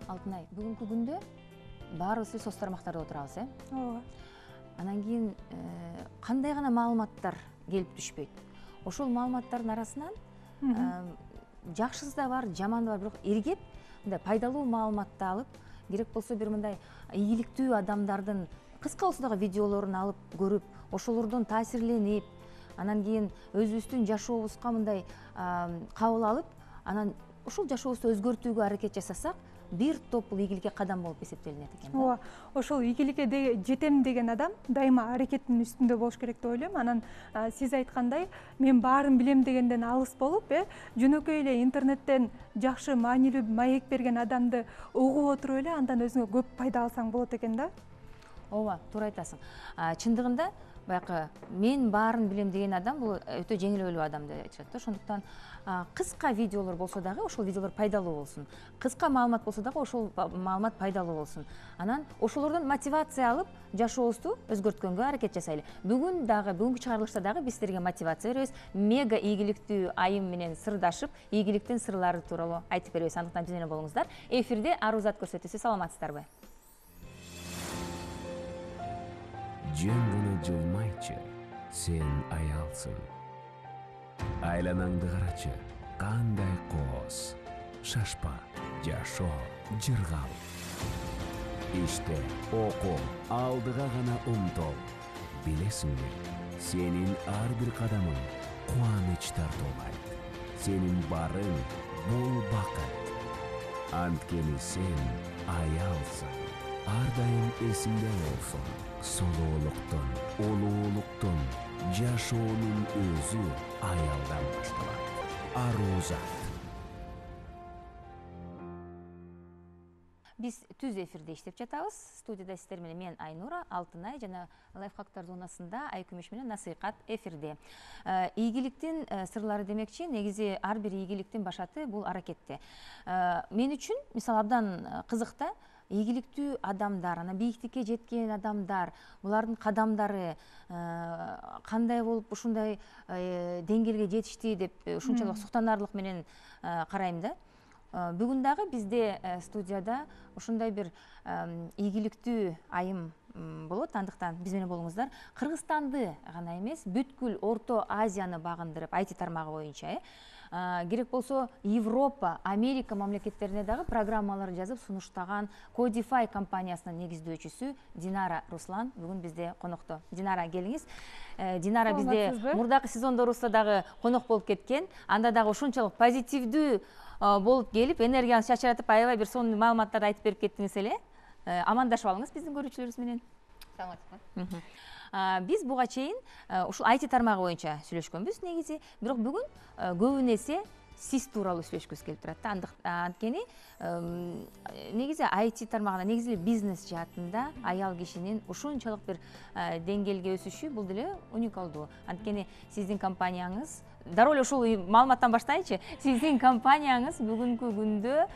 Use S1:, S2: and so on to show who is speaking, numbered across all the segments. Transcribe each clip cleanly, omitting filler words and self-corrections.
S1: Алтынай, бүгүнкү күндө баарыбыз соц тармактарда отурабыз,
S2: Ооба.
S1: Анан кийин кандай гана маалыматтар келип түшпөйт. Ошол маалыматтардын арасынан жакшысы да бар, жаманы да бар, бирок эргеп мындай пайдалуу маалыматты алып, керек болсо бир мындай ийгиликтүү адамдардын кыска болсо дагы видеолорун алып көрүп, ошолордон таасирленип, анан кийин өзүбүздүн жашообузга мындай кабыл алып, анан ошол жашообузду өзгөртүүгө аракет жасасак, бир топ бул ийгиликке кадам болуп эсептелинет экен.
S2: Ооба, ошол ийгиликке жетем деген адам дайыма аракеттин үстүндө болуш керек деп ойлойм. Анан сиз айткандай, мен баарын билем дегенден алыс болуп, жөнөкөй эле интернеттен жакшы маанилүү маек берген адамды угуп отуруп эле андан өзүңө көп пайда алсаң болот экен да.
S1: Ооба, туура айтасың. Чындыгында баягы мен баарын билем деген адам бул өтө жеңилөөлүү адам деп айтышат да. Ошондуктан кыска видеолор болсо дагы ошол видеолор пайдалуу болсун. Кыска маалымат болсо дагы ошол маалымат пайдалуу болсун. Анан ошолордон мотивация алып, жашообузду өзгөрткөнгө аракет жасайлы. Бүгүнкү чыгарылышта дагы биз силерге мотивация беребиз. Мега ийгиликтүү айым менен сырдашып, ийгиликтин сырлары тууралуу айтып беребиз. Андыктан биз менен болуңуздар. Эфирде Арузат көрсөтүүсү. Саламатсыздарбы?
S3: Жөн жылмайчы, сен аялсың. Айланаңды карачы, кандай кооз. Шашпа, жашоо, жыргал. Иште, окуу, алдыга гана умтул. Билесиңби, сенин ар бир кадамың кубаныч тартуулайт. Сенин барың бул бакыт. Анткени сен аялсың. Ар дайым эсиңде болсун. Солоолуктун, улуулуктун, жашоонун өзү аялдан башталат. Арузат.
S1: Биз түз эфирде иштеп жатабыз. Студияда сиздер менен мен Айнура, Алтынай жана Лайфхактар зонасында Айкүмүш менен Насыйкат эфирде. Ийгиликтин сырлары демекчи, негизи ар бир ийгиликтин башаты бул аракетте. Мен үчүн мисалы абдан кызык да, ийгиликтүү адамдар, анан бийиктикке жеткен адамдар, булардын кадамдары кандай болуп ушундай деңгээлге жетишти деп ушунчалык суктанарлык менен карайм да. Бүгүн дагы бизде студияда ушундай бир ийгиликтүү айым болот. Андыктан биз менен болуңуздар. Кыргызстанды гана эмес, бүткүл Орто Азияны багындырып, IT тармагы боюнча керек болсо Европа, Америка мамлекеттерине дагы программалар жазып сунуштаган Codify компаниясынын негиздөөчүсү Динара Руслан бүгүн бизде конокто. Динара, келиңиз. Динара бизде мурдакы сезондорубузда дагы конок болуп кеткен. Анда дагы ушунчалык позитивдүү болуп келип, энергияны чачыратып, аябай бир сонун маалыматтарды айтып берип кеттиңиз эле. Амандашып алыңыз биздин көрүүчүлөрүбүз менен.
S4: Саламатсызбы?
S1: Биз буга чейин ушул IT тармагы боюнча сүйлөшкөнбүз негизи, бирок бүгүн көбүн эсе сиз тууралуу сүйлөшкүбүз келип турат да. Анткени негизи IT тармагында, негизи бизнес жаатында аял кишинин ушунчалык бир деңгээлге өсүшү бул деле уникалдуу. Анткени сиздин компанияңыз, дароо эле ушул маалыматтан баштайынчы. Сиздин компанияңыз бүгүнкү күндө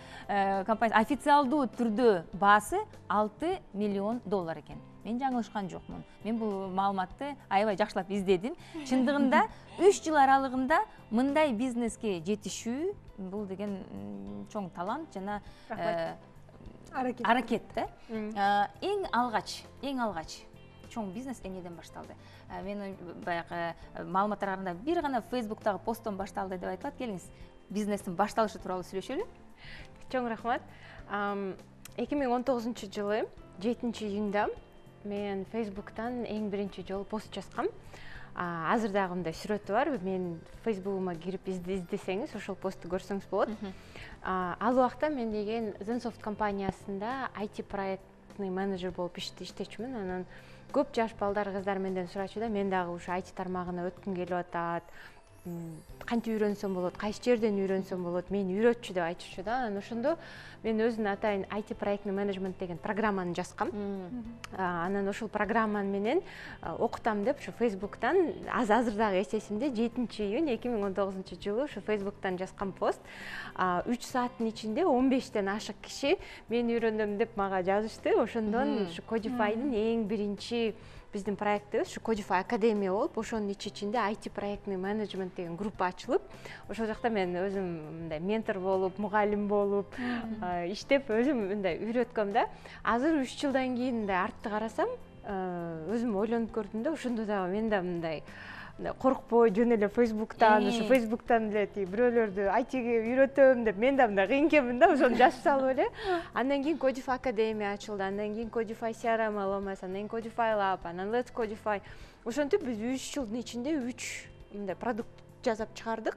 S1: официалдуу түрдө баасы $6 миллион экен. Мен жаңылышкан жокмун. Мен бул маалыматты аябай жакшылап издедим. Чындыгында 3 жыл аралыгында мындай бизнеске жетишүү бул деген чоң талант жана аракет да. Эң алгач чоң бизнес эмнеден башталды? Мен баягы маалыматтар караганда бир гана Facebook'тагы посттон башталды деп айтылат. Келиңиз, бизнестин башталышы тууралуу сүйлөшөлү.
S4: Чоң рахмат. 2019 жылы 7-июнда мен Facebook'тан эң биринчи жолу пост жазгам. Азыр дагы мындай сүрөтү бар. Мен Facebook'ума кирип издесеңиз, ошол постты көрсөңүз болот. Ал убакта мен деген Zensoft компаниясында IT проектный менеджер болуп иштечүмүн. Анан көп жаш балдар, кыздар менден сурачу да, мен дагы ушу IT тармагына өткүм келип атат. Кантип үйрөнсөм болот, кайсы жерден үйрөнсөм болот, мени үйрөтчү деп айтышчу да. Анан ошондо мен өзүнүн атайын IT проектный менеджмент деген программаны жазгам. Анан ошол программаны менен окутам деп ушу Facebook'тан азыр дагы эс эсимде 7-июнь 2019 жылы ушу Facebook'тан жазган пост. 3 сааттын ичинде 15тен ашык киши мен үйрөнөм деп мага жазышты. Ошондон ушу Codify'дын эң биринчи биздин проектибиз ушу Codify Академия болуп, ошонун ичинде IT проектный менеджмент деген группа ачылып, ошол жакта мен өзүм мындай ментор болуп, мугалим болуп иштеп, өзүм мындай үйрөткөм да. Азыр 3 жылдан кийин мындай артты карасам, өзүм ойлонуп көрдүм да, ошондо дагы мен да мындай коркпой жөн эле Facebook'тан, ошо Facebook'тан эле бирөөлөрдү IT-ге үйрөтөм деп мен да мындай кыйын экенмин да, ошону жазып салып эле. Андан кийин Codify Академия ачылды, андан кийин Codify CRM LMS, андан кийин Codify Lab, анан Let's Codify. Ошентип биз 3 жылдын ичинде 3 мындай продукт жасап чыгардык.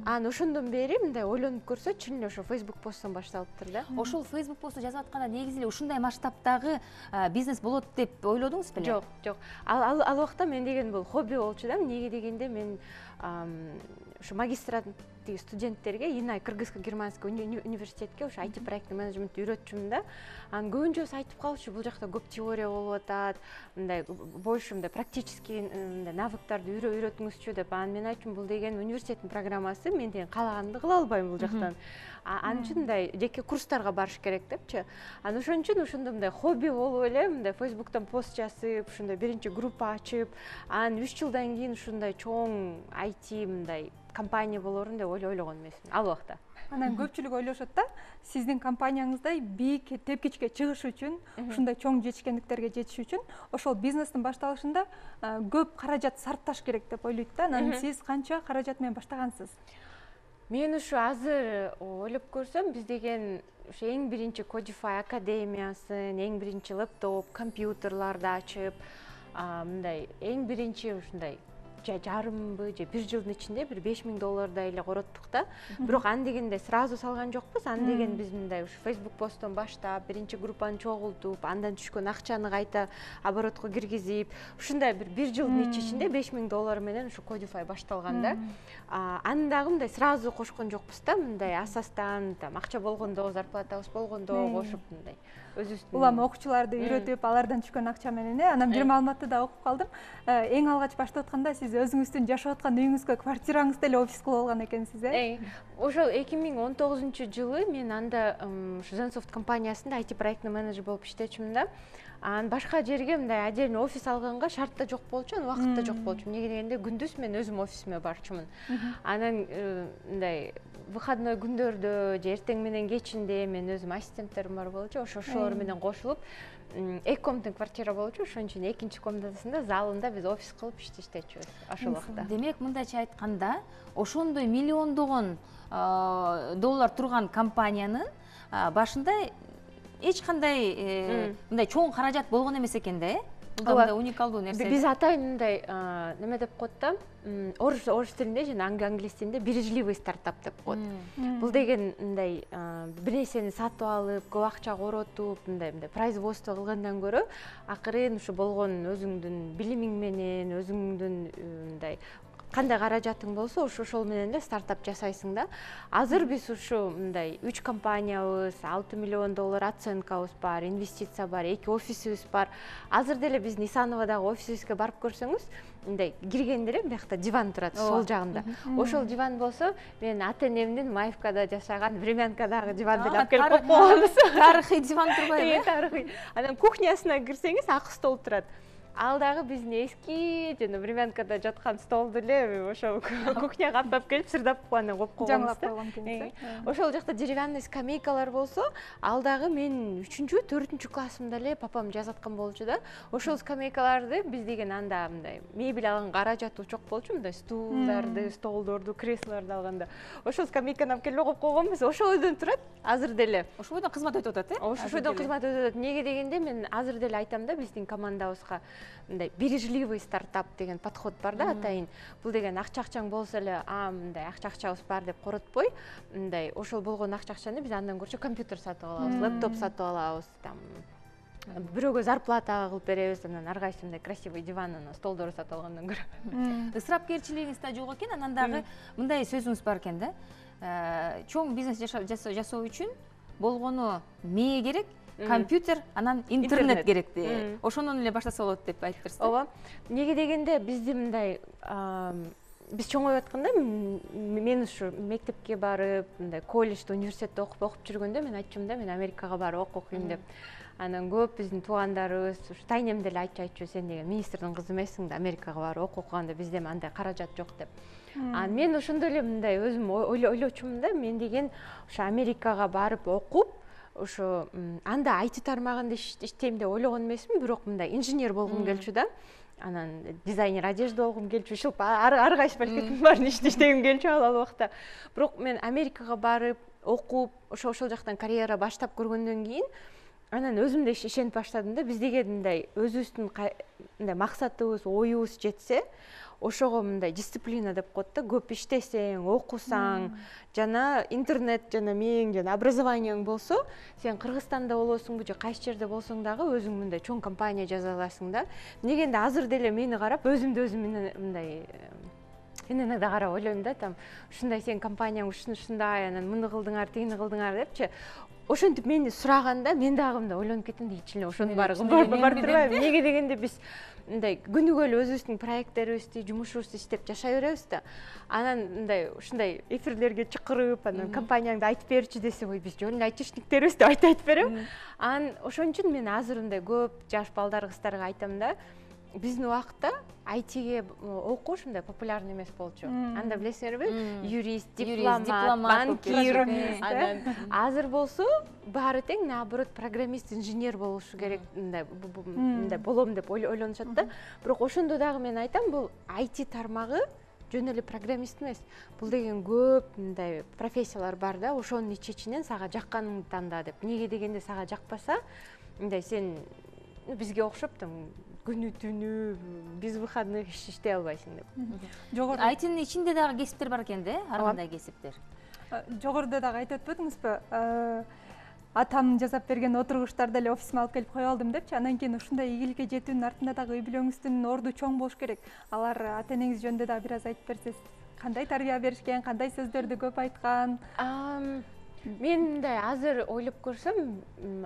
S4: Анан ошондон бери мындай ойлонуп көрсө, чын эле ошо Facebook посттон башталыптыр да.
S1: Ошол Facebook посту жазып атканда негизи эле ушундай масштабтагы бизнес болот деп ойлодуңуз беле?
S4: Жок, жок. Ал убакта мен деген бул хобби болчу да. Эмнеге дегенде мен ушу магистранттык студенттерге Инай Кыргызско-Германский университетке ушу IT проектный менеджментти үйрөтчүмүн да. Анан көбүнчөсү айтып калчу, бул жакта көп теория болуп атат, мындай больше мындай практический мындай навыктарды үйрөтүңүзчү деп. Анан мен айттым, бул деген университеттин программасы, мен деген каалаганды кыла албайм бул жактан. Анын үчүн мындай жеке курстарга барыш керек депчи. Анан ошон үчүн ошондо мындай хобби болуп эле мындай Facebook'тан пост жазып, ушундай биринчи группа ачып, анан 3 жылдан кийин ушундай чоң IT мындай компания болорун деп ойлогон эмесмин ал убакта.
S2: Анан көпчүлүк ойлошот да, сиздин компанияңыздай бийик тепкичке чыгыш үчүн, ушундай чоң жетишкендиктерге жетиш үчүн ошол бизнестин башталышында көп каражат сарпташ керек деп ойлойт да. Анан сиз канча каражат менен баштагансыз?
S4: Мен ушу азыр ойлоп көрсөм, биз деген ушу эң биринчи Codify Академиясын, эң биринчи лаптоп, компьютерларды ачып, мындай эң биринчи ушундай жарымбы же 1 жылдын ичинде бир $5000 эле короттук да. Бирок аны дегенде сразу салган жокпуз. Аны деген биз мындай ушу Facebook посттон баштап, биринчи группаны чогултуп, андан түшкөн акчаны кайта оборотко киргизип, ушундай бир 1 жылдын ичинде $5000 менен ушу Codify башталган да. Аны дагы мындай сразу кошкон жокпуз да, мындай асастан, акча болгондо, зарплатабыз болгондо кошуп мындай өзүбүздүн
S2: улам окуучуларды үйрөтүп, алардан түшкөн акча менен. Анан бир маалыматты да окуп калдым. Эң алгач баштап атканда сиз өзүңүздүн жашап аткан үйүңүзгө, квартираңызды эле офис кылып алган экенсиз,
S4: Ошол 2019-жылы мен анда Zensoft компаниясында IT проектный менеджер болуп иштечүмүн да. Анан башка жерге мындай отдельный офис алганга шарт да жок болчу, убакыт да жок болчу. Эмнеге дегенде күндүз мен өзүм офисиме барчумун. Анан мындай выходной күндөрдө же эртең менен кечинде мен өзүм ассистенттерим бар болчу, ошолор менен кошулуп эки комнатный квартира болчу, ошон үчүн экинчи комнатасында залында биз офис кылып иштечүбүз ошол убакта.
S1: Демек, мындайча айтканда, ошондой миллиондогон доллар турган компаниянын башында эч кандай мындай чоң каражат болгон эмес экен да, Бул да уникалдуу нерсе.
S4: Биз атайын мындай неме деп коет да, орус тилинде жана англис тилинде бережливый стартап деп коет. Бул деген мындай бир нерсени сатып алып, көп акча коротуп, мындай производство кылгандан көрө, акырын ушу болгон өзүңдүн билимиң менен, өзүңдүн мындай кандай каражатың болсо, ошол менен эле стартап жасайсың да. Азыр биз ушу мындай 3 компаниябыз, $6 миллион оценкабыз бар, инвестиция бар, 2 офисибиз бар. Азыр деле биз Нисановадагы офисибизге барып көрсөңүз, мындай киргенде эле биякта диван турат, сол жагында. Ошол диван болсо, мен ата-энемдин Маевкада жашаган времянкадагы диванды алып келип койгонбуз.
S1: Тарыхый диван турбайбы?
S4: Тарыхый. Анан кухнясына кирсеңиз, ак стол турат. Ал дагы биздин эски жана времянкада жаткан столду эле ошо кухняга каптап келип сырдап анан коюп койгонбуз да. Ошол жакта деревянный скамейкалар болсо, ал дагы мен 3-4 классымда эле папам жасаткан болчу да. Ошол скамейкаларды биз деген анда мындай мебель алган каражаты жок болчу, мындай стулдарды, столдорду, креслолорду алганда. Ошол скамейканы алып келип коюп койгонбуз. Ошол бойдон турат азыр деле.
S1: Ошол бойдон кызмат өтүп атат,
S4: Ошол бойдон кызмат өтүп атат. Неге дегенде мен азыр деле айтам да, биздин командабызга мындай бережливый стартап деген подход бар да, атайын. Бул деген акчаң болсо эле, мындай акчабыз бар деп коротпой, мындай ошол болгон акчаны биз андан көрчү компьютер сатып алабыз, лаптоп сатып алабыз, там бирөөгө зарплата кылып беребиз, анан ар кайсы мындай красивый диван, столдор сатып алгандан көрө.
S1: Ысырапкерчилигиңиз да жок экен, анан дагы мындай сөзүңүз бар экен да. Чоң бизнес жасоо үчүн болгону мээ керек, компьютер, анан интернет керекти. Ошондон эле баштаса болот деп айтыптырсыз.
S4: Ооба. Неге дегенде бизди мындай биз чоңоюп атканда мен ушу мектепке барып мындай колледжде университетте окуп жүргөндө мен айтчумун да мен Америкага барып окуйм деп. Анан көп биздин туугандарыбыз ушу тайнем деле айтчу сен деген министрдин кызы эмессиң да Америкага барып окуганда бизде андай каражат жок деп. Анан мен ошондо эле мындай өзүм ойлочумун да мен деген ошо Америкага барып окуп ошо анда IT тармагында иштейм деп ойлогон эмесмин, бирок мындай инженер болгум келчү да. Анан дизайнер одежда болгум келчү, ушул ар кайсы пакеттин баарын иштегим келчү ал убакта. Бирок мен Америкага барып окуп ошол жактан карьера баштап көргөндөн кийин анан өзүм да ишенип баштадым да, биз деген мындай өзүбүздүн мындай максатыбыз, оюбуз жетсе, ошого мындай дисциплина деп коет да, көп иштесең, окусаң, жана интернет жана мээң жана образованияң болсо, сен Кыргызстанда болосуңбу же кайсы жерде болсоң дагы өзүң мындай чоң компания жаза аласың да. Дегенде азыр деле мени карап өзүмдү өзүм мындай иногда карап ойлойм да, там ушундай сен компанияң ушундай, анан муну кылдыңар, тигини кылдыңар депчи. Ошентип мени сураганда мен дагы мындай ойлонуп кеттим да, ичиле ошонун баары барып турбайбы? Неге дегенде биз мындай күнүгө эле өзүбүздүн проекттерибизди, жумушубузду иштеп жашай беребиз да. Анан мындай ушундай эфирлерге чакырып, анан компанияңды айтып берчи десе, ой биз жөн эле айтышниктербиз деп айтып берем. Анан ошон үчүн мен азыр мындай көп жаш балдар, кыздарга айтам да, биздин убакытта айтиге окуу ушундай популярный эмес болчу. Анда билесиңерби? Юрист, дипломат, банкир. Анан азыр болсо баары тең, наоборот, программист, инженер болушу керек, мындай болом деп ойлонушат да. Бирок ошондо дагы мен айтам, бул IT тармагы жөн эле программист эмес. Бул деген көп мындай профессиялар бар да, ошонун ичинен сага жакканыңды танда деп. Неге дегенде сага жакпаса, мындай сен бизге окшоп күнү түнү биз выходных иштей албайсың деп.
S1: Жогору айтынын ичинде дагы кесиптер бар экен да, ар кандай кесиптер.
S2: Жогоруда дагы айтып өтпөдүңүзбү? Атам жасап берген отургучтарды эле офисиме алып келип кое алдым депчи. Анан кийин ушундай ийгиликке жетүүнүн артында дагы үй бүлөңүздүн орду чоң болуш керек. Алар ата энеңиз жөнүндө дагы бир аз айтып берсеңиз. Кандай тарбия беришкен, кандай сөздөрдү көп айткан?
S4: Мен мындай азыр ойлоп көрсөм,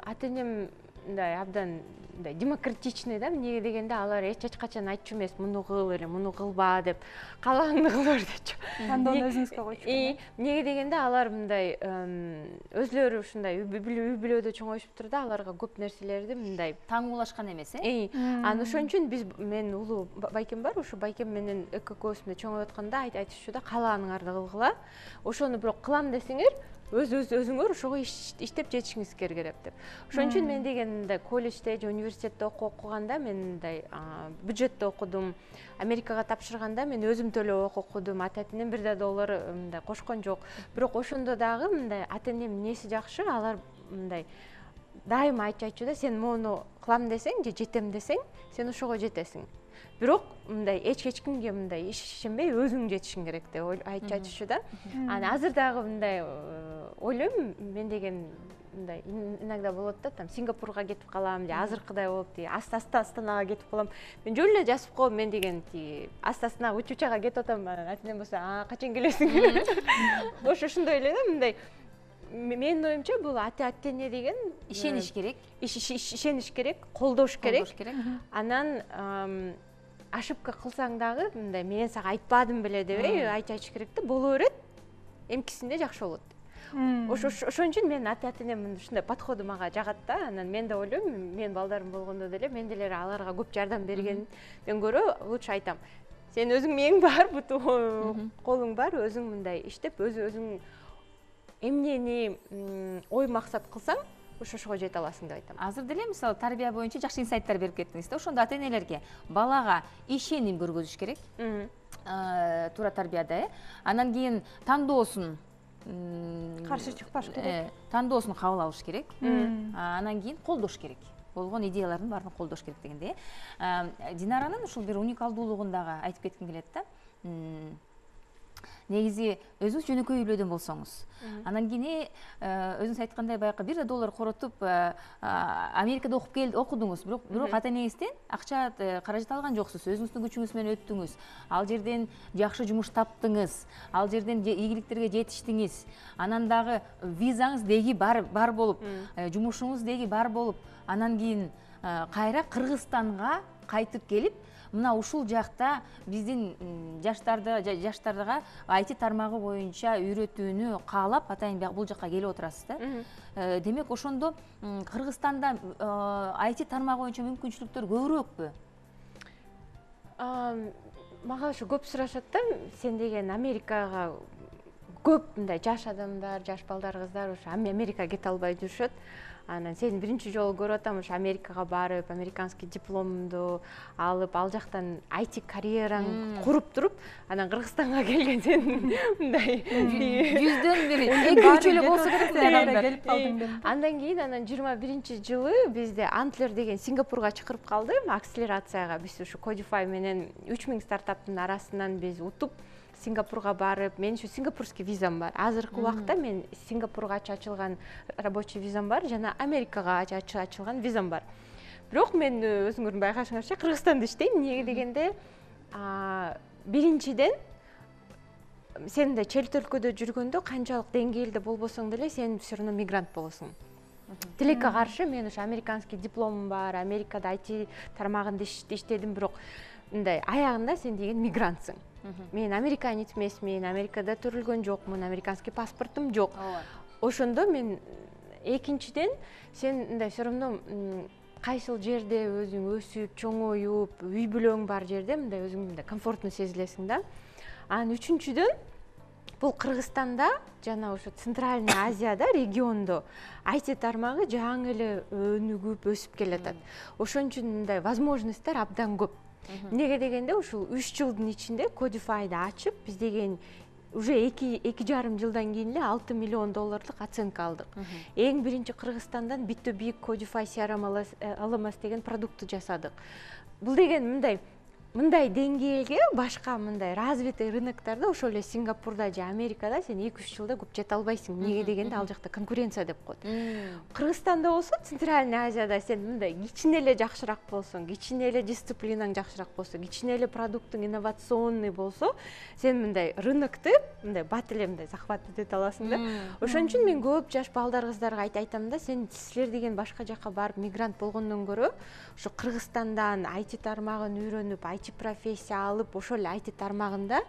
S4: ата энем мындай абдан мындай демократичный да. Неге дегенде алар эч качан айтчу эмес, муну кыл эле, муну кылба деп, каалааңды кыл бер депчи.
S2: Тандоону өзүңүзгө койчу.
S4: Неге дегенде алар мындай өзлөрү ушундай үй бүлөдө чоңоюшуп тур да, аларга көп нерселерди мындай
S1: таңуулашкан эмес,
S4: Анан ошон үчүн биз мен улуу байкем бар, ошо байкем менен экөөбүз чоңоюп атканда айтышчу да, каалааныңарды кылгыла. Ошону бирок кылам десеңер, өзүңөр ошого иштеп жетишиңиз керек деп. Ошон үчүн мен деген мындай колледжде же университетте окуганда мен мындай бюджетте окудум. Америкага тапшырганда мен өзүм төлөп окудум. Ата-энем бир да доллар мындай кошкон жок. Бирок ошондо дагы мындай ата-энем эмнеси жакшы, алар мындай дайыма айтчу да, сен моуну кылам десең же жетем десең, сен ошого жетесиң. Бирок мындай эч кимге мындай ишенбей өзүң жетишиң керек деп айтчу да. Анан азыр дагы мындай ойлойм, мен деген мындай иногда болот да, там Сингапурга кетип калам, же азыркыдай болуп Астанага кетип калам. Мен жөн эле жазып коем, мен деген Астанага учучага кетип атам, ата-энем болсо, качан келесиң? Ошондой эле да, мындай менин оюмча бул ата-эне деген
S1: ишениш керек.
S4: Ишениш керек, колдош керек. Анан ошибка кылсаң дагы мындай мен сага айтпадым беле деп айтыш керек да, боло берет. Эмкисинде жакшы болот. Ошон үчүн мен ата-энемдин ушундай подходу мага жагат да. Анан мен да ойлойм, мен балдарым болгондо деле мен деле аларга көп жардам бергенден көрө лучше айтам. Сен өзүң мээң бар, буту колуң бар, өзүң мындай иштеп, өзүң эмнени ой максат кылсаң, ошого жете аласың деп айтам.
S1: Азыр деле мисалы тарбия боюнча жакшы инсайттар берип кеттиңиз да. Ошондо ата-энелерге балага ишеним көргөзүш керек. Туура тарбияда, Анан кийин тандоосун
S2: каршы чыкпаш керек.
S1: Тандоосун кабыл алыш керек. Анан кийин колдош керек. Болгон идеялардын баарын колдош керек дегенде. Динаранын ушул бир уникалдуулугун дагы айтып кетким келет да. Негизи өзүңүз жөнөкөй үй бүлөдөн болсоңуз, анан кийин өзүңүз айткандай баягы бир да доллар коротуп Америкада окудуңуз, бирок ата-энеңизден акча каражат алган жоксуз, өзүңүздүн күчүңүз менен өттүңүз, ал жерден жакшы жумуш таптыңыз, ал жерден ийгиликтерге жетиштиңиз, анан дагы визаңыз деги бар болуп, жумушуңуз деги бар болуп, анан кийин кайра Кыргызстанга кайтып келип, мына ушул жакта биздин жаштарга IT тармагы боюнча үйрөтүүнү каалап атайын бул жакка келип отурасыз да. Демек ошондо Кыргызстанда IT тармагы боюнча мүмкүнчүлүктөр көбүрөөкпү?
S4: Мага ошо көп сурашат да, сен деген Америкага көп мындай жаш адамдар, жаш балдар, кыздар ошо Америкага кете албай жүрүшөт. Анан сени биринчи жолу көрүп атам, ошо Америкага барып, американский дипломду алып, ал жактан IT карьераң куруп туруп, анан Кыргызстанга келген сен мындай
S1: 100дөн бири 2-3 эле болсо керек адамдар
S2: келип калдың.
S4: Андан кийин анан 21-жылы бизде Antler деген Сингапурга чакырып калды, акселерацияга. Биз ушу Codify менен 3000 стартаптын арасынан биз утуп Сингапурга барып, мен ушу сингапурский визам бар. Азыркы убакта мен Сингапурга ачылган рабочий визам бар жана Америкага ачылган визам бар. Бирок мен өзүңөрдүн байкашыңарча Кыргызстанда иштейм. Эмнеге дегенде, биринчиден сен мындай чет өлкөдө жүргөндө канчалык деңгээлде болбосоң деле сен все равно мигрант болосуң. Тилекке каршы мен ушу американский дипломум бар, Америкада IT тармагында иштедим, бирок мындай аягында сен деген мигрантсың. Мен американец эмесмин, Америкада төрөлгөн жокмун, американский паспортум жок. Ошондо мен экинчиден сен мындай все равно кайсыл жерде өзүң өсүп, чоңоюп, үй бүлөң бар жерде мындай өзүң мындай комфортно сезилесиң да. Анан үчүнчүдөн бул Кыргызстанда жана ошо Центральный Азияда региондо IT тармагы жаңы эле өнүгүп, өсүп келатат. Ошон үчүн мындай возможностьтор абдан көп. Эмнеге дегенде ушул 3 жылдын ичинде Codify'ды ачып, биз деген уже 2,5 жылдан кийин эле $6 миллион оценка алдык. Эң биринчи Кыргызстандан бит-то-бит Codify CRM LMS деген продуктты жасадык. Бул деген мындай деңгээлге башка мындай развитый рыноктарда, ошол эле Сингапурда же Америкада сен 2-3 жылда көп жете албайсың. Эмнеге дегенде ал жакта конкуренция деп коет. Кыргызстанда болсо, Центральный Азияда сен мындай кичине эле жакшыраак болсоң, кичине эле дисциплинаң жакшыраак болсо, кичине эле продуктуң инновационный болсо, сен мындай рынокту мындай бат эле мындай захват эте аласың да. Ошон үчүн мен көп жаш балдар, кыздарга айтам да, силер деген башка жакка барып мигрант болгондон көрө, ошо Кыргызстандан IT тармагын үйрөнүп, IT профессия алып, ошол IT тармагында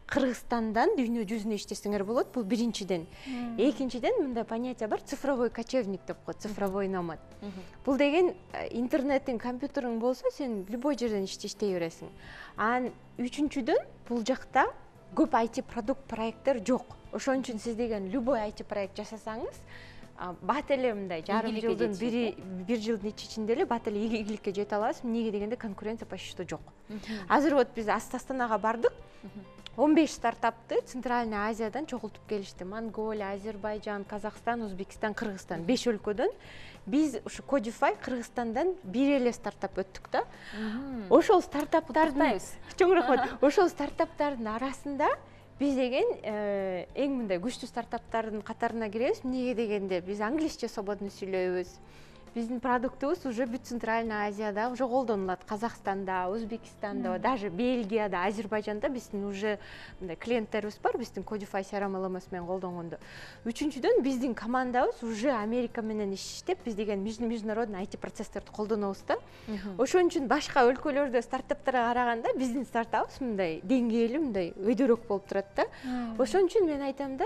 S4: Кыргызстандан дүйнө жүзүнө иштесеңер болот. Бул биринчиден. Экинчиден мындай понятие бар, цифровой кочевник деп коет, цифровой номад. Бул деген интернеттин, компьютериң болсо, сен любой жерден иштей бересиң. Анан үчүнчүдөн бул жакта көп IT продукт проекттер жок. Ошон үчүн сиз деген любой IT проект жасасаңыз, бат эле мындай жарым жылдын, бир жылдын ичинде эле бат эле ийгиликке жете аласыз. Эмнеге дегенде конкуренция почти что жок. Азыр вот биз Астанага бардык. 15 стартапты Центральный Азиядан чогултуп келишти. Монголия, Азербайжан, Казакстан, Өзбекстан, Кыргызстан 5 өлкөдөн. Биз ушу Codify Кыргызстандан бир эле стартап өттүк да. Ошол стартаптардын чоң рахмат. Ошол стартаптардын арасында биз деген эң мындай күчтүү стартаптардын катарына киребиз. Эмнеге дегенде биз англисче свободно сүйлөйбүз. Биздин продуктубуз уже бүт Центральный Азияда уже колдонулат. Казакстанда, Өзбекстанда, даже Бельгияда, Азербайжанда биздин уже мындай клиенттерибиз бар, биздин Codify CRM LMS менен колдонгондо. Үчүнчүдөн биздин командабыз уже Америка менен иштеп, биз деген международный IT процесстерди колдонобуз да. Ошон үчүн башка өлкөлөрдө стартаптарга караганда биздин стартабыбыз мындай деңгээли мындай өйдөрөөк болуп турат да. Ошон үчүн мен айтам да,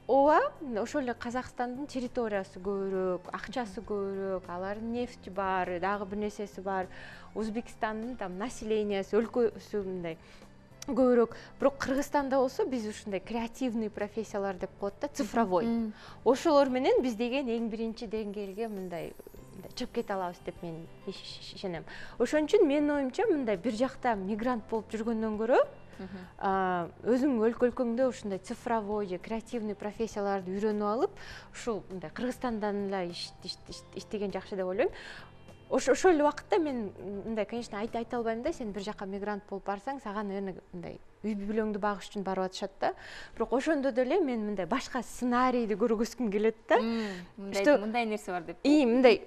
S4: ооба, ошол эле Казакстандын территориясы көбүрөөк, акчасы көбүрөөк, алардын нефти бар, дагы бир нерсеси бар. Өзбекстандын там населениясы, өлкөсү мындай көбүрөөк. Бирок Кыргызстанда болсо биз ушундай креативный профессиялар деп коет да, цифровой. Ошолор менен биз деген эң биринчи деңгээлге мындай чыгып кете алабыз деп мен ишенем. Ошон үчүн менин оюмча мындай бир жакта мигрант болуп жүргөндөн көрө өзүң өлкөңдө ушундай цифровой же креативный профессияларды үйрөнүп алып, ушул мындай Кыргызстандан эле иштеген жакшы деп ойлойм. Ошол эле убакытта мен мындай, конечно, айта албайм да, сен бир жакка мигрант болуп барсаң, сага наверное мындай үй бүлөңдү багыш үчүн барып атышат да. Бирок ошондо деле мен мындай башка сценарийди көргөзгүм келет да.
S1: Мындай нерсе бар деп.
S4: Мындай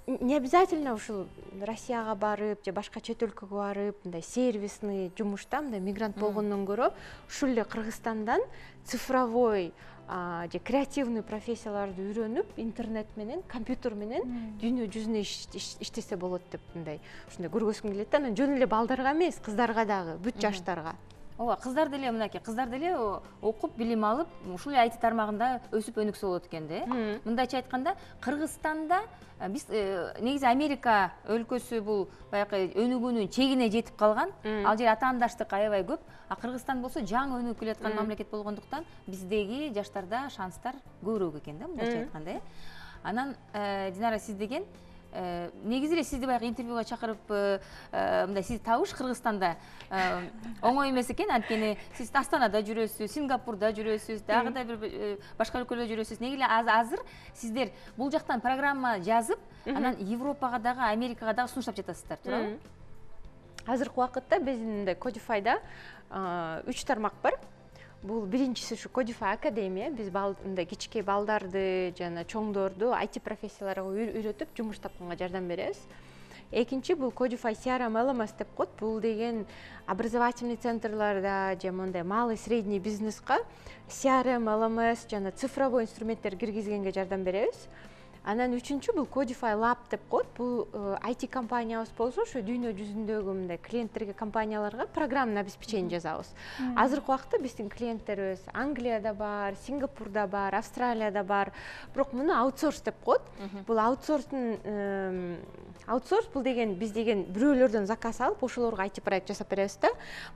S4: не обязательно ушул Россияга барып же башка чет өлкөгө барып, мындай сервисный жумушта мындай мигрант болгондон көрө, ушул эле Кыргызстандан цифровой же креативный профессияларды үйрөнүп интернет менен компьютер менен дүйнө жүзүнө иштесе болот деп мындай ушундай көргөзгүм келет да. Анан жөн эле балдарга эмес, кыздарга дагы, бүт жаштарга.
S1: Ооба, кыздар деле мынакей, кыздар деле окуп, билим алып, ушул IT тармагында өсүп өнүксө болот экен да. Мындайча айтканда, Кыргызстанда биз негизи Америка өлкөсү бул баягы өнүгүүнүн чегине жетип калган. Ал жер атаандаштык аябай көп. А Кыргызстан болсо жаңы өнүгүп келаткан мамлекет болгондуктан биздеги жаштарда шанстар көбүрөөк экен да, мындайча айтканда. Анан Динара, сиз деген негизи эле сизди баягы интервьюга чакырып мындай сизди табыш Кыргызстанда оңой эмес экен. Анткени сиз Астанада жүрөсүз, Сингапурда жүрөсүз, дагы да бир башка өлкөлөрдө жүрөсүз. Неге эле азыр сиздер бул жактан программа жазып, анан Европага дагы, Америкага дагы сунуштап жатасыздар, туурабы?
S4: Азыркы убакытта биздин мындай Codify'да 3 тармак бар. Бул биринчиси ушу Codify Академия. Биз мындай кичинекей балдарды жана чоңдорду IT профессияларга үйрөтүп жумуш тапканга жардам беребиз. Экинчи бул Codify CRM LMS деп коет. Бул деген образовательный центрларда же мындай малый средний бизнеска CRM LMS жана цифровой инструменттер киргизгенге жардам беребиз. Анан үчүнчү бул Codify Lab деп коет. Бул IT компаниябыз болсо, ошо дүйнө жүзүндөгү мындай клиенттерге, компанияларга программный обеспечение жазабыз. Азыркы убакытта биздин клиенттерибиз Англияда бар, Сингапурда бар, Австралияда бар. Бирок муну аутсорс деп коет. Бул аутсорс бул деген биз деген бирөөлөрдөн заказ алып, ошолорго IT проект жасап беребиз да.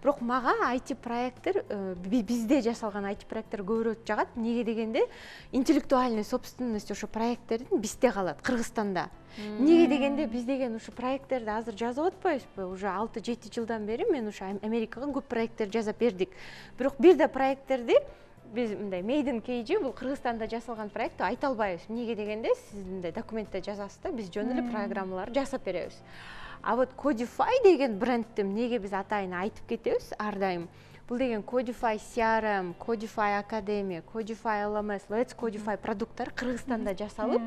S4: Бирок мага IT проекттер бизде жасалган IT проекттер көбүрөөк жагат. Неге дегенде интеллектуальный собственность ошо проекттердин бизде калат, Кыргызстанда. Неге дегенде биз деген ушу проекттерди азыр жазып атпайбызбы? Уже 6-7 жылдан бери мен ушу Америкага көп проекттер жазып бердик. Бирок бир да проекттерди биз мындай Made in KG бул Кыргызстанда жасалган проект айта албайбыз. Неге дегенде сиз мындай документте жазасыз да, биз жөн эле программаларды жасап беребиз. А вот Codify деген брендти неге биз атайын айтып кетебиз ар дайым? Бул деген Codify CRM, Codify Академия, Codify LMS, Let's Codify продукттар Кыргызстанда жасалып,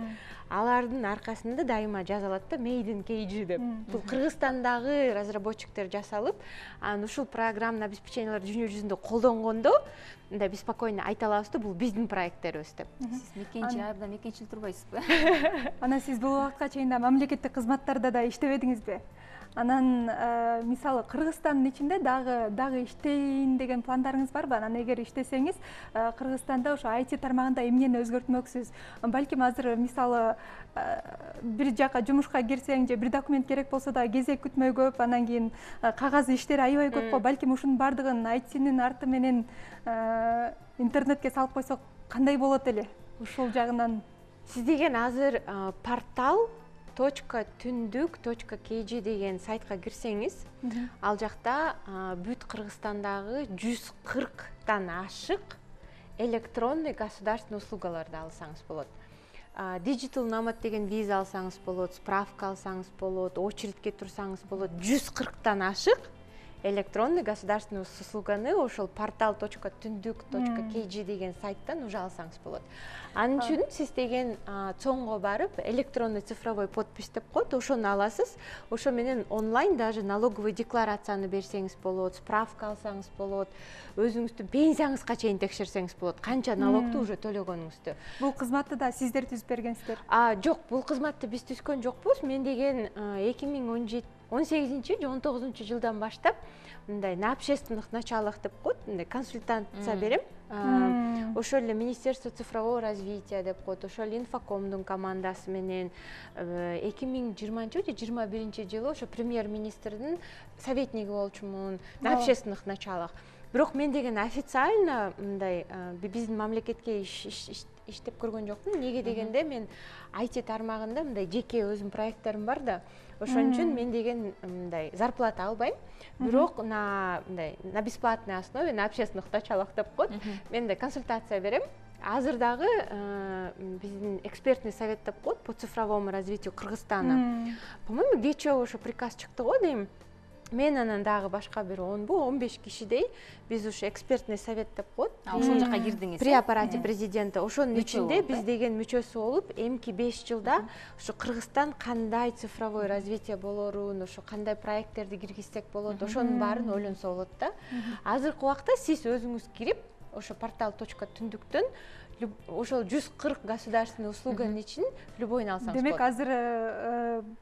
S4: алардын аркасында дайыма жазылат да Made in KG деп. Бул Кыргызстандагы разработчиктер жасалып, анан ушул программный обеспеченияларды дүйнө жүзүндө колдонгондо, мындай биз спокойно айта алабыз да, бул биздин проекттерибиз деп.
S1: Сиз мекенчи, абдан мекенчил турбайсызбы?
S2: Анан сиз бул убакытка чейин да мамлекеттик кызматтарда да иштебедиңизби? Анан мисалы Кыргызстандын ичинде дагы иштейин деген пландарыңыз барбы? Анан эгер иштесеңиз, Кыргызстанда ошо IT тармагында эмнени өзгөртмөксүз? Балким азыр мисалы бир жака жумушка кирсең же бир документ керек болсо да кезек күтмөй көп, анан кийин кагаз иштери аябай көп го. Балким ушунун бардыгын IT-нин арты менен интернетке салып койсок кандай болот эле? Ушул жагынан
S4: сиз деген азыр портал .түндүк.kg деген сайтка кирсеңиз, ал жакта бүт Кыргызстандагы 140тан ашык электронный государственный услугаларды алсаңыз болот. Digital Nomad деген виза алсаңыз болот, справка алсаңыз болот, очередке турсаңыз болот. 140тан ашык электронный государственный услуганы ошол portal.түндүк.kg деген сайттан уже алсаңыз болот. Анын үчүн сиз деген цоңго барып, электронный цифровой подпись деп коет, ошону аласыз. Ошо менен онлайн даже налоговый декларацияны берсеңиз болот, справка алсаңыз болот, өзүңүздүн пенсияңызга чейин текшерсеңиз болот, канча налогду уже төлөгөнүңүздү.
S2: Бул кызматты да сиздер түзүп бергенсиздер?
S4: Жок, бул кызматты биз түзгөн жокпуз. Мен деген 2018 же 19 жылдан баштап мындай на общественных началах деп коет, мындай консультация берем. Ошол эле Министерство цифрового развития деп коет, ошол эле Инфокомдун командасы менен 2020 же 2021 жылы ошо премьер-министрдин советниги болчумун на общественных началах. Бирок мен деген официально мындай биздин мамлекетке иштеп көргөн жокмун. Неге дегенде мен IT тармагында мындай жеке өзүм проекттерим бар да. Ошон үчүн мен деген мындай зарплата албайм. Бирок на бесплатной основе, на общественных началах деп коет. Мен да консультация берем. Азыр дагы биздин экспертный совет деп коет по цифровому развитию Кыргызстана. По-моему, кечээ ошо приказ чыкты го дейм. Мен анан дагы башка бир 10-15 кишидей биз ушу экспертный совет деп коет.
S1: Ошол жака кирдиңиз.
S4: При аппарате президента. Ошонун ичинде биз деген мүчөсү болуп, эмки 5 жылда ушу Кыргызстан кандай цифровой развитие болорун, ошо кандай проекттерди киргизсек болот, ошонун баарын ойлонсо болот да. Азыркы убакта сиз өзүңүз кирип, ошо portal.түндүктөн ошол 140 государственный услуганын ичинен любойуну алсаңыз болот.
S2: Демек азыр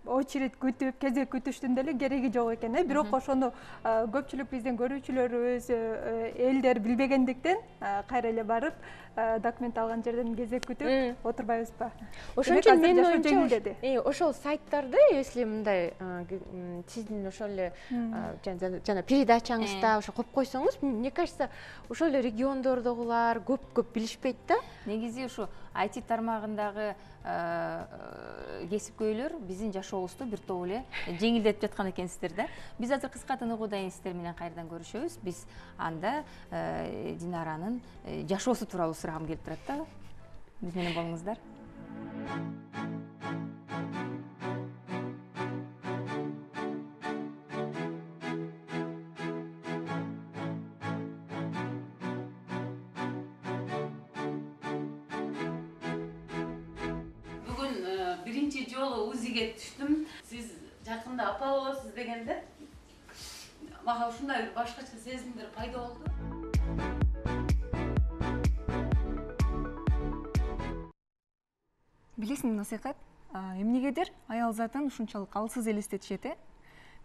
S2: очередь күтүп, кезек күтүштүн деле кереги жок экен, бирок ошону көпчүлүк биздин көрүүчүлөрүбүз, элдер билбегендиктен кайра эле барып документ алган жерден кезек күтүп отурбайбызбы?
S4: Ошон үчүн менин оюмча ошол сайттарды, если мындай сиздин ошол эле жана передачаңызда ошо коюп койсоңуз, мне кажется, ошол эле региондордогулар көп билишпейт да.
S1: Негизи ушу IT тармагындагы кесипкөйлөр биздин жашообузду бир топ эле жеңилдетип жаткан экенсиздер да. Биз азыр кыска тыныгуудайын сиздер менен кайрадан көрүшөбүз. Биз анда Динаранын жашоосу тууралуу сурагым келип турат да. Биз менен болуңуздар.
S5: Биринчи жолу УЗИге түштүм. Сиз жакында апа болосуз дегенде мага ушундай бир башкача сезимдер пайда болду.
S6: Билесиңби Насыйкат, эмнегедир аял затын ушунчалык алсыз элестетишет.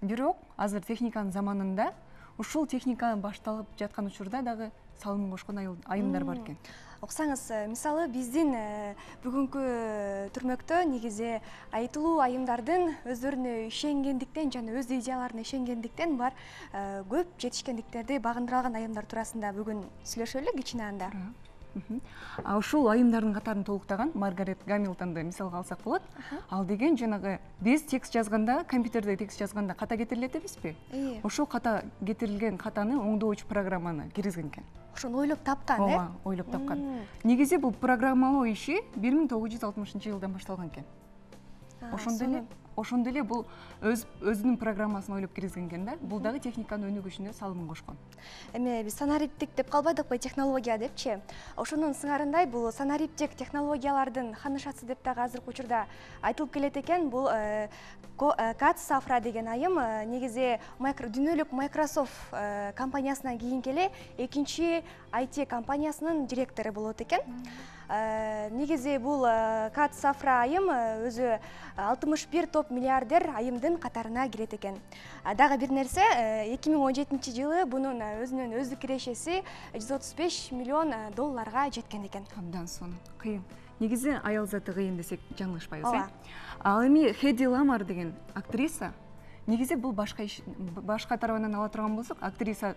S6: Бирок азыр техниканын заманында ушул техника башталып жаткан учурда дагы салымын кошкон айымдар бар экен.
S7: Оксаңыз, мисалы биздин бүгүнкү түрмөктө негизи айтылуу айымдардын өздөрүнө ишенгендиктен жана өз идеяларына ишенгендиктен бар көп жетишкендиктерди багындыра алган айымдар туурасында бүгүн сүйлөшөлү кичине анда.
S6: Ушул айымдардын катарын толуктаган Маргарет Гамильтонду мисалга алсак болот. Ал деген жанагы биз текст жазганда, компьютерде текст жазганда ката кетирилет эмеспи? Ошол ката кетирилген катаны оңдоочу программаны киргизген экен.
S7: Ошону ойлоп тапкан,
S6: Ооба, ойлоп тапкан. Негизи бул программалоо иши 1960-жылдан башталган экен. Ошондо эле бул өзүнүн программасын ойлоп киргизген экен да. Бул дагы техниканын өнүгүшүнө салымын кошкон.
S7: Эми биз санариптик деп калбадыкпы, технология депчи. Ошонун сыңарындай бул санариптик технологиялардын ханышасы деп дагы азыркы учурда айтылып келет экен. Бул Кат Сафра деген айым негизи дүйнөлүк Microsoft компаниясынан кийинки эле экинчи IT компаниясынын директору болот экен. Негизи бул Кат Сафра айым өзү 61 топ миллиардер айымдын катарына кирет экен. Дагы бир нерсе, 2017-жылы бунун өзүнүн өздүк кирешеси 135 миллион долларга жеткен экен.
S6: Абдан сонун. Кыйын. Негизи аял заты кыйын десек жаңылышпайбыз, Ал эми Хеди Ламар деген актриса, негизи бул башка тарабынан ала турган болсок, актриса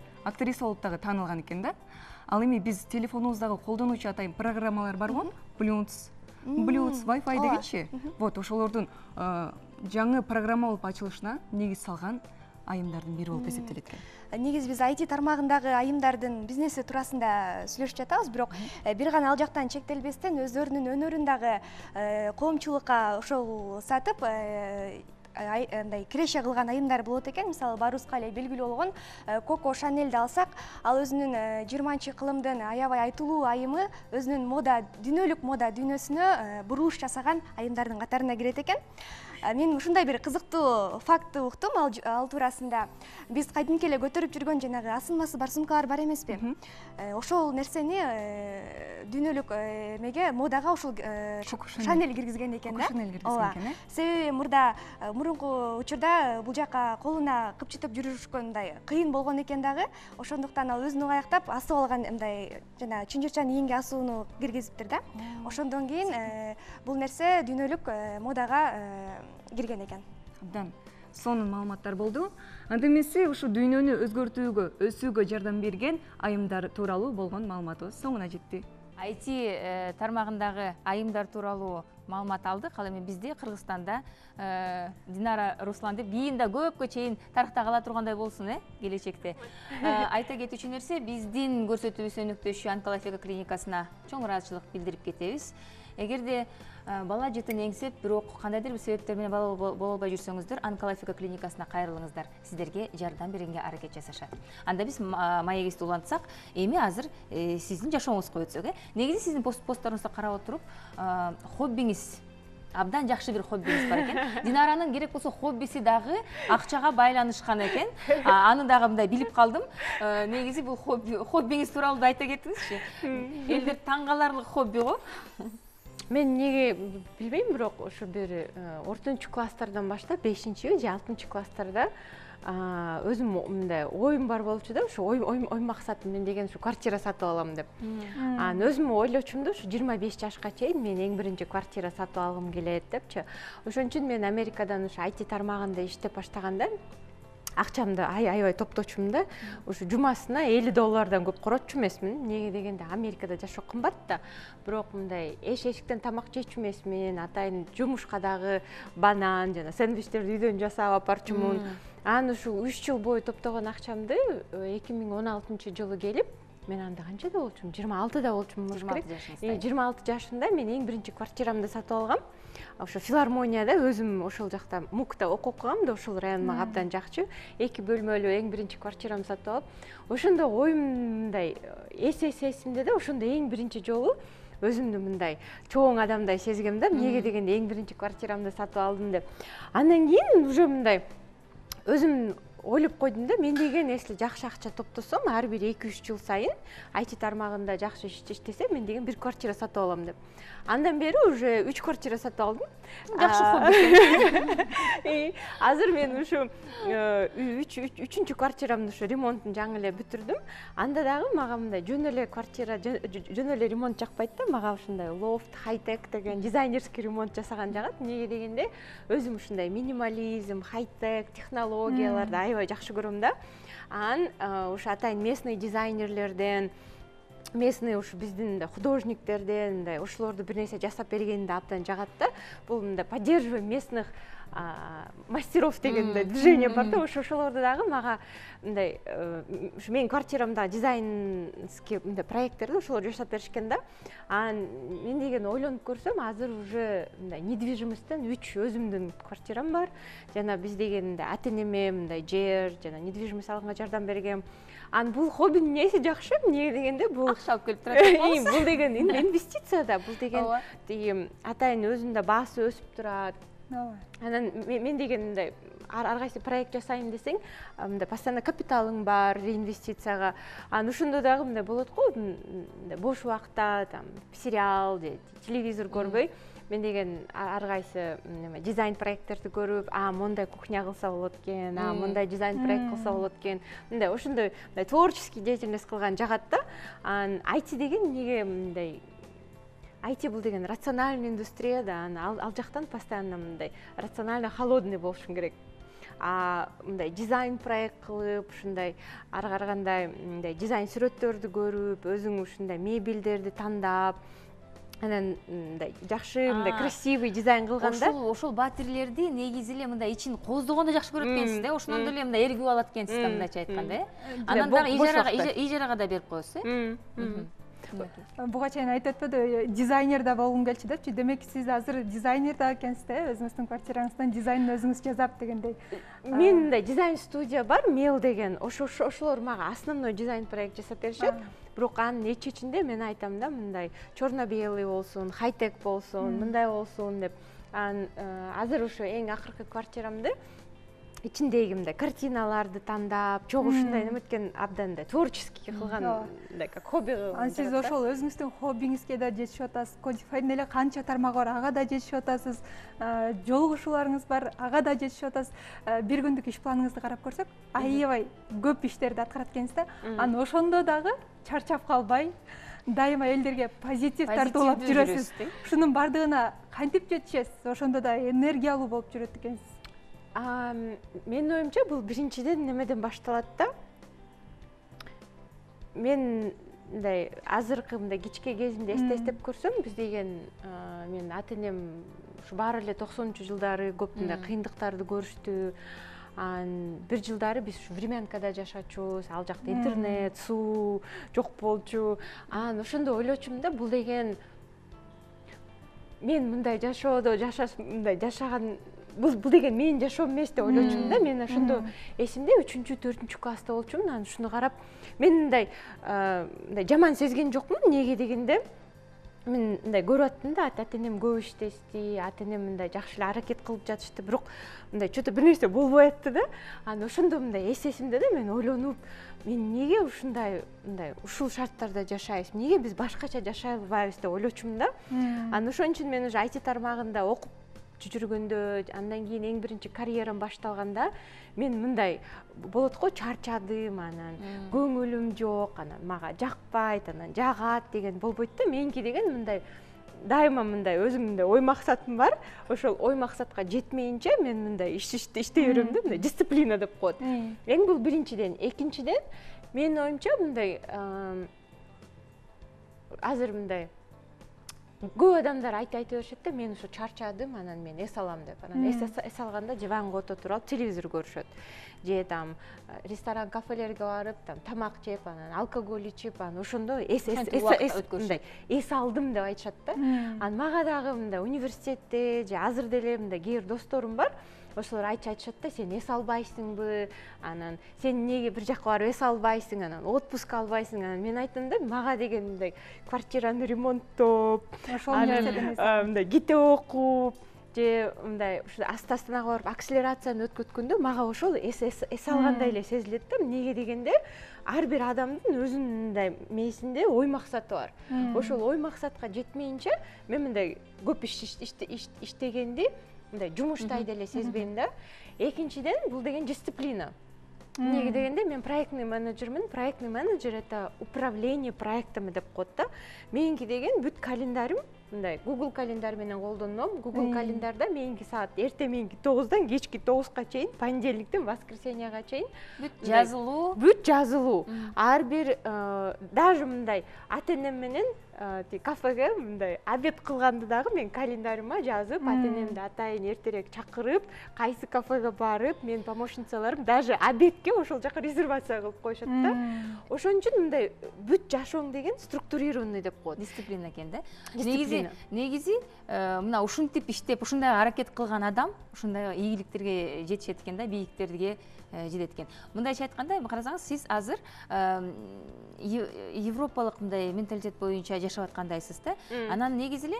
S6: болуп дагы таанылган экен да. Ал эми биз телефонубуздагы колдонуучу атайын программалар барбы? Bluetooth, Wi-Fi дегенчи. Вот ошолордун жаңы программа болуп ачылышына негиз салган айымдардын бири болуп эсептелет экен.
S7: Негизи биз IT тармагындагы айымдардын бизнеси туурасында сүйлөшүп жатабыз, бирок бир гана ал жактан чектелбестен өздөрүнүн өнөрүн дагы коомчулукка ошол сатып андай киреше кылган айымдар болот экен. Мисалы баарыбызга эле белгилүү болгон Коко Шанельди алсак, ал өзүнүн 20-кылымдын аябай айтылуу айымы өзүнүн дүйнөлүк мода дүйнөсүнө бурулуш жасаган айымдардын катарына кирет экен. Мен ушундай бир кызыктуу фактты уктум ал туурасында. Биз кайдимки эле көтөрүп жүргөн жанагы асынмасы бар сумкалар бар эмеспи? Ошол нерсени дүйнөлүк эмеге модага ошол Шанель киргизген экен да. Себеби мурунку учурда бул жака колуна кыпчытып жүрүшкөндай кыйын болгон экен дагы. Ошондуктан ал өзүн аяктап асып алган мындай жана чынжырчан ийинге асууну киргизиптир да. Ошондон кийин бул нерсе дүйнөлүк модага кирген экен.
S6: Абдан сонун маалыматтар болду. Анда эмесе ушу дүйнөнү өзгөртүүгө, өсүүгө жардам берген айымдар тууралуу болгон маалыматыбыз соңуна жетти.
S1: IT тармагындагы айымдар тууралуу маалымат алдык. Ал эми бизде Кыргызстанда Динара Руслан деп кийин да көпкө чейин тарыхта кала тургандай болсун, келечекте. Айта кетүүчү нерсе, биздин көрсөтүүбүз өнүктүшү онкология клиникасына чоң ыраазычылык билдирип кетебиз. Эгерде бала жытын эңсеп, бирок кандайдыр бир себептер менен бала боло албай жүрсөңүздөр, онкология клиникасына кайрылыңыздар. Сиздерге жардам беренге аракет жасашат. Анда биз маегибизди улантсак, эми азыр сиздин жашооңузга өтсөк, негизи сиздин постторуңузду карап отуруп, хоббиңиз абдан жакшы бир хоббиңиз бар экен. Динаранын керек болсо хоббиси дагы акчага байланышкан экен. Аны дагы мындай билип калдым. Негизи бул хоббиңиз тууралуу да айта кетиңизчи. Элдер таң каларлык хобби го.
S4: Мен неге билбейм, бирок ошо бир ортончу класстардан баштап 5-же же 6-чы класстарда өзүм мындай оюм бар болчу да, ошо ой максатым мен деген ушу квартира сатып алам деп. Анан өзүм ойлочумун да, ушу 25 жашка чейин мен эң биринчи квартира сатып алгым келет депчи. Ошон үчүн мен Америкадан ушу IT тармагында иштеп баштаганда акчамды аябай топточумун да. Ушу жумасына $50 көп коротчу эмесмин. Неге дегенде Америкада жашоо кымбат да. Бирок мындай эшиктен тамак жечү эмесмин. Атайын жумушка дагы банан жана сэндвичтерди үйдөн жасап апарчумун. Анан ушу 3 жыл бою топтогон акчамды 2016-жылы келип, мен анда канчада болчумун? 26да болчумун болуш керек. 26 жашында мен эң биринчи квартирамды сатып алгам. Ошо филармонияда өзүм ошол жакта МУКта окуп калгам да, ошол район мага абдан жакчу. 2 бөлмөлүү эң биринчи квартирамды сатып алып, ошондо оюм мындай эсесимде да, ошондо эң биринчи жолу өзүмдү мындай чоң адамдай сезгем да. Эмнеге дегенде эң биринчи квартирамды сатып алдым деп. Андан кийин уже мындай өзүм ойлоп койдум да, мен деген если жакшы акча топтосом, ар бир 2-3 жыл сайын IT тармагында жакшы иштесем, мен деген бир квартира сатып алам деп. Андан бери уже 3 квартира сатып алдым.
S1: Жакшы хобби.
S4: Азыр мен ушу 3-чү квартирамды ушу ремонтун жаңы эле бүтүрдүм. Анда дагы мага мындай жөн эле квартира, жөн эле ремонт жакпайт да, мага ушундай лофт, хай-тек деген дизайнерский ремонт жасаган жагат. Эмнеге дегенде өзүм ушундай минимализм, хай-тек технологияларды аябай жакшы көрөм да. Анан ушу атайын местный дизайнерлерден, местный ушу биздин художниктерден ошолорду бир нерсе жасап бергенди абдан жагат да. Бул мындай поддерживаем местных мастеров деген движение бар да, ошолорду дагы мага мындай ушу менин квартирамда дизайнский мындай проекттерди ошолор жасап беришкен да. Анан мен деген ойлонуп көрсөм, азыр уже мындай недвижимосттен 3 өзүмдүн квартирам бар. Жана биз деген ата-энеме мындай жер жана недвижимость алганга жардам бергем. Анан бул хоббинин эмнеси жакшы? Эмнеге дегенде бул
S1: акча алып келип турат.
S4: Бул деген инвестиция да, бул деген атайын өзүндө баасы өсүп турат. Анан мен деген мындай ар кайсы проект жасайын десең, мындай постоянно капиталың бар реинвестицияга. Анан ошондо дагы мындай болот го, бош убакта там сериал же телевизор көрбөй, мен деген ар кайсы дизайн проекттерди көрүп, мондай кухня кылса болот экен, мондай дизайн проект кылса болот экен. Мындай ошондой творческий деятельность кылган жагат да. Анан IT деген эмнеге мындай IT бул деген рациональный индустрия да, ал жактан постоянно мындай рационально холодный болушуң керек. Мындай дизайн проект кылып, ушундай ар кандай мындай дизайн сүрөттөрдү көрүп, өзүң ушундай мебелдерди тандап, анан мындай жакшы, мындай красивый дизайн кылганда,
S1: ошол батирлерди негизи эле мындай ичин коздогонду жакшы көрөт экенсиз да, ошондон деле мындай эргип алат экенсиз да, мындайча айтканда, Анан дагы ижарага да берип коесуз,
S2: Буга чейин айтып өтпөдү, дизайнер да болгум келчү депчи. Демек сиз азыр дизайнер да экенсиз да, өзүңүздүн квартираңыздын дизайнын өзүңүз жасап дегендей.
S4: Мен мындай дизайн студия бар, Мел деген. Ошолор мага основной дизайн проект жасап беришет. Бирок анын ичинде мен айтам да, мындай черно-белый болсун, хай-тек болсун, мындай болсун деп. Азыр ошо эң акыркы квартирамды ичиндеги мындай картиналарды тандап, чогуу ушундай неметкен абдан да творческий кылган, мындай как хобби.
S2: Анан сиз ошол өзүңүздүн хоббиңизге да жетишип атасыз. Кодифайдын эле канча тармагы бар, ага да жетишип атасыз. Жолугушууларыңыз бар, ага да жетишип атасыз. Бир күндүк иш планыңызды карап көрсөк, аябай көп иштерди аткарат экенсиз да. Анан ошондо дагы чарчап калбай, дайыма элдерге позитив тартуулап жүрөсүз. Ушунун бардыгына кантип жетишесиз? Ошондо да энергиялуу болуп жүрөт экенсиз.
S4: Менин оюмча бул биринчиден немеден башталат да. Мен мындай азыркы мындай кичке кезимде эстеп көрсөм, биз деген мен ата-энем ушу баары эле 90-жылдары көп мындай кыйындыктарды көрүштү. Бир жылдары биз ушу времянкада жашачубуз, ал жакта интернет, суу жок болчу. Ошондо ойлочумун да, бул деген мен мындай жашоодо жашаган бул деген менин жашоом эмес деп ойлочумун да. Мен ошондо эсимде 3-4 класста болчумун. Анан ушуну карап мен мындай жаман сезген жокмун. Неге дегенде мен мындай көрүп аттым да, ата энем көп иштешти, ата энем мындай жакшы эле аракет кылып жатышты, бирок мындай что-то бир нерсе болбой атты да. Анан ошондо мындай эсесимде да мен ойлонуп, мен неге ушундай мындай ушул шарттарда жашайбыз, неге биз башкача жашай албайбыз деп ойлочумун да. Анан ошон үчүн мен уже IT тармагында окуп жүргөндө, андан кийин эң биринчи карьерам башталганда мен мындай болот го, чарчадым, анан көңүлүм жок, анан мага жакпайт, анан жагат деген болбойт да. Меники деген мындай дайыма мындай өзүмдө ой максатым бар. Ошол ой максатка жетмейинче мен мындай иштей берем да, мындай дисциплина деп коет. Эң бул биринчиден. Экинчиден, менин оюмча мындай азыр мындай көп адамдар айта беришет да, мен ушу чарчадым, анан мен эс алам деп. Анан эс алганда диванга отуруп алып телевизор көрүшөт. Же там ресторан, кафелерге барып, там тамак жеп, анан алкоголь ичип, анан ошондо эс алдым деп айтышат да. Анан мага дагы мындай университетте же азыр деле мындай кээ бир досторум бар. Ошолор айтышат да, сен эс албайсыңбы, анан сен неге бир жакка барып эс албайсың, анан отпуск албайсың. Анан мен айттым да, мага деген мындай квартираны ремонттоп, мындай ките окуп, же мындай ушу астанага барып акселерацияны өткөткөндө мага ошол эс алгандай эле сезилет да. Неге дегенде, ар бир адамдын өзүнүн мындай мээсинде ой максаты бар. Ошол ой максатка жетмейинче мен мындай көп иштегенди мындай жумуштайт эле сезбейм да. Экинчиден, бул деген дисциплина. Неге дегенде, мен проектный менеджермин. Проектный менеджер это управление проектами деп коет да. Меники деген бүт календарым мындай Google календар менен колдоном. Google календарда меники саат эртең 9-дан кечки 9-ка чейин, понедельниктен воскресеньяга чейин бүт жазылуу. Ар бир даже мындай ата энем менен кафеге мындай обед кылганды дагы мен календарима жазып, ата энемди атайын эртерээк чакырып, кайсы кафеге барып, менин помощницаларым даже обедке ошол жака резервация кылып коюшат да. Ошон үчүн мындай бүт жашооң деген структурированный деп коет.
S1: Дисциплина экен да. Негизи мына ушинтип иштеп, ушундай аракет кылган адам ушундай ийгиликтерге жетишет экен да, бийиктерге жетет экен. Мындайча айтканда, карасаңыз, сиз азыр европалык мындай менталитет боюнча жашап аткандайсыз да. Анан негизи эле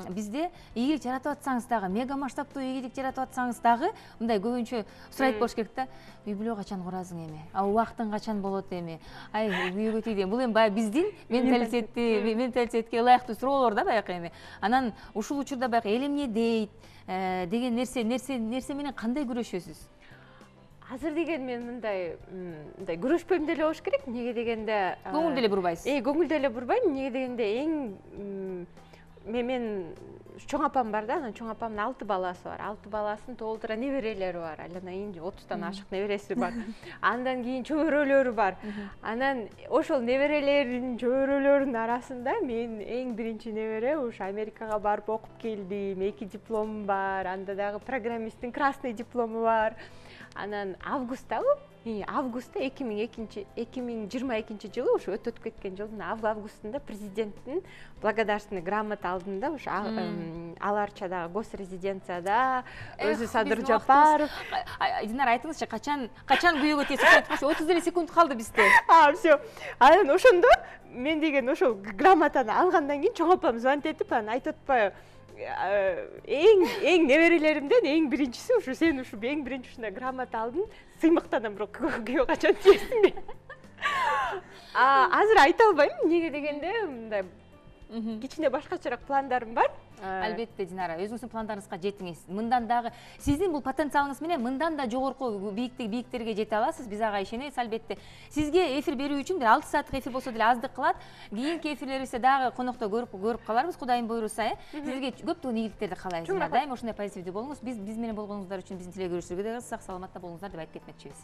S1: бизде ийгилик жаратып атсаңыз дагы, мега масштабтуу ийгилик жаратып атсаңыз дагы, мындай көбүнчө сурайт болуш керек да. Үй бүлө качан курасың эми? Убактың качан болот эми? Ай, күйөөгө тийди. Бул эми баягы биздин менталитетке ылайыктуу суроолор да баягы эми. Анан ушул учурда баягы эл эмне дейт деген нерсе менен кандай күрөшөсүз?
S4: Азыр деген мен мындай күрөшпөйм деле болуш керек. Неге дегенде
S1: көңүл деле бурбайсыз.
S4: Көңүл деле бурбайм. Неге дегенде эң мен чоң апам бар да, анан чоң апамдын 6 баласы бар. 6 баласынын толтура неберелери бар. Анан 30тан ашык небереси бар. Андан кийин чөбөрөлөрү бар. Анан ошол неберелердин чөбөрөлөрүнүн арасында мен эң биринчи небере ушу Америкага барып окуп келдим. 2 дипломум бар. Анда дагы программисттин красный диплому бар. Анан августта 2022 жылы ушу өтүп кеткен жылдын августунда президенттин благодарственный грамота алдым да. Ушу аларча госрезиденцияда өзү Садыр Жапаров.
S1: Динара, айтыңызчы, качан күйөөгө тийесиз? 30 секунд калды бизде.
S4: Всё. Анан ошондо мен деген ошол грамотаны алгандан кийин чоң апам звонить этип, анан айтып атпайбы, эң неберелеримден эң биринчиси ушу сен ушу эң биринчи ушундай грамота алдың, сыймыктанам, бирок күйөө качан тийесиң деп. Азыр айта албайм, неге дегенде мындай кичине башкачараак пландарым бар.
S1: Албетте, Динара, өзүңүздүн пландарыңызга жетиңиз. Мындан дагы сиздин бул потенциалыңыз менен мындан да жогорку бийиктерге жете аласыз. Биз ага ишенебиз, албетте. Сизге эфир берүү үчүн 6 сааттык эфир болсо деле аздык кылат. Кийинки эфирлерибизде дагы конокто көрүп каларбыз, Кудайым буйруса. Сизге көптөгөн ийгиликтерди каалайбыз. Дайыма ушундай позитивдүү болуңуз. Биз менен болгонуңуздар үчүн биздин теле көрүүчүлөргө да сак саламатта болуңуздар деп айтып кетмекчибиз.